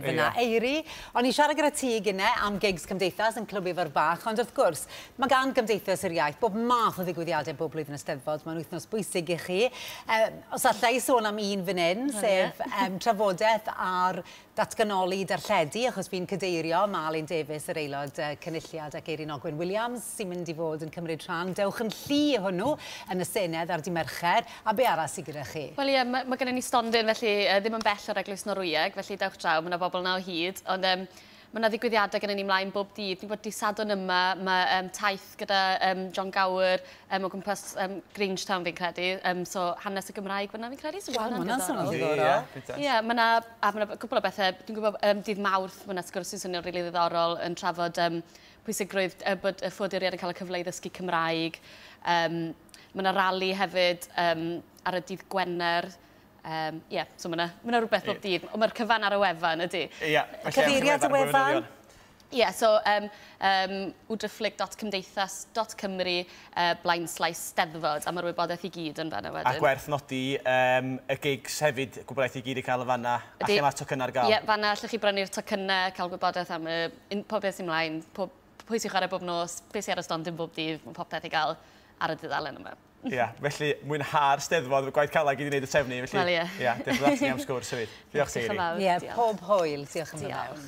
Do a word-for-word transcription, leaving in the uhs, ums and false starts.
Fyna, Eiri, o'n i siarad gyda ti gynne am gigs Cymdeithas yn Clwb Ifor Bach, ond wrth gwrs, mae gan Gymdeithas yr Iaith bob math o ddigwyddiadau bob blwyddyn y Steddfod, mae'n wythnos bwysig i chi. Um, os alla i sôn am un fan hyn, sef um, trafodaeth ar datganoli darlledu, achos fi'n cadeirio Malin Davies, yr aelod uh, cynulliad, ac Eirin Ogwen Williams, sy'n mynd i fod yn cymryd rhan. Dewch yn llu hwnnw yn y Senedd ar Dydd Mercher, a be arall sydd gyda chi? Wel ie, mae, mae gennym ni stondin, felly uh, ddim yn bell o'r Eglwys Norwyeg, felly dewch draw, mae yna bobl yna o hyd, ond um, mae yna ddigwyddiadau gennym ni mlaen bob dydd. Fi'n gwybod dydd Sadwrn yma, mae um, taith gyda um, John Gower um, o gwmpas um, Grangetown fi'n credu. Um, so hanes y Gymraeg fyna fi'n credu. So Wel, ma' hwnna'n swnio'n ddiddorol. Ie, mae yna, a ma' 'na cwpl o bethau. Dwi'n gwybod um, dydd Mawrth, mae yna sgwrs sy'n swnio'n rili ddiddorol yn trafod um, pwysigrwydd uh, bod y ffoaduriaid yn cael y cyfle i ddysgu Cymraeg. Um, mae yna rali hefyd um, ar y dydd Gwener. Um, yeah, so mae yna ma rhywbeth bob dydd. Ond mae'r cyfan ar y wefan, ydy. Ie. Cyfeiriad y wefan? Ie, yeah, so um, um, w driphlyg dot cymdeithas dot cymru uh, blaen slaes steddfod, a mae'r wybodaeth i gyd yn fanna wedyn. A gwerth nodi um, y gigs hefyd, gwybodaeth i gyd i cael y fanna, a lle mae'r tocynnau ar gael. Ie, yeah, fanna allwch chi brynu'r tocynnau, cael gwybodaeth am y, un, pob beth sy'n mlaen, pob, pwy sy'n chwarae bob nos, beth sy'n ar y stondin bob dydd, mae popeth i gael ar y dudalen yma. Ie, yeah, felly mwynha'r Steddfod, gwaith caled i wneud y trefnu. Felly, Wel, ie. Ie, diolch yn fawr am sgwrs hefyd. Diolch, Diolch yn Seiri. fawr. Ie, Diolch. Pob hwyl. Diolch yn fawr.